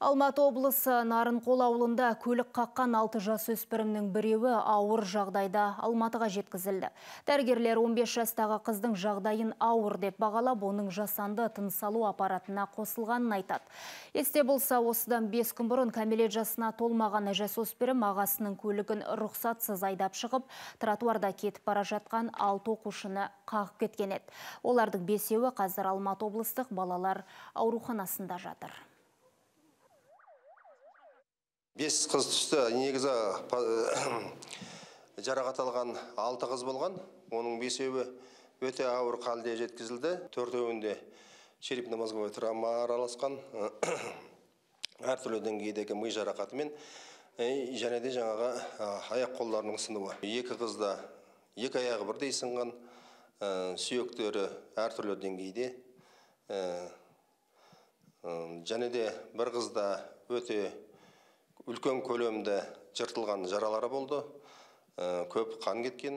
Алматы облысы Нарынқол ауылында көлік қаққан 6 жасөспірімнің біреуі ауыр жағдайда Алматыға жеткізілді. Дәрігерлер 15 жастағы қыздың жағдайын ауыр деп бағалап, оның жасанды тыныс алу аппаратына қосылғанын айтады. Есте болса, осыдан 5 күн бұрын кәмелет жасына толмаған жасөспірім ағасының көлігін рұқсатсыз айдап шығып, тротуарда кетіп бара жатқан 6 оқушыны қағып кеткен еді. Олардың 5-еуі қазір Алматы облыстық балалар ауруханасында жатыр. 5 қыз түсті. Негізі жарақат алған 6 қыз болған. Оның 5-еуі өте ауыр халде жеткізілді. 4-еуінде черепно-мозговой травма араласқан, әртүрлі деңгейдегі ми жарақатымен және де жаңағы аяқ қолдарының сынуы. 2 қызда 2 аяғы бірдей сынған, сүйектері әртүрлі деңгейде. Және де бір қызда өте үлкен көлемді жыртылған жаралары болды, көп қан кеткен.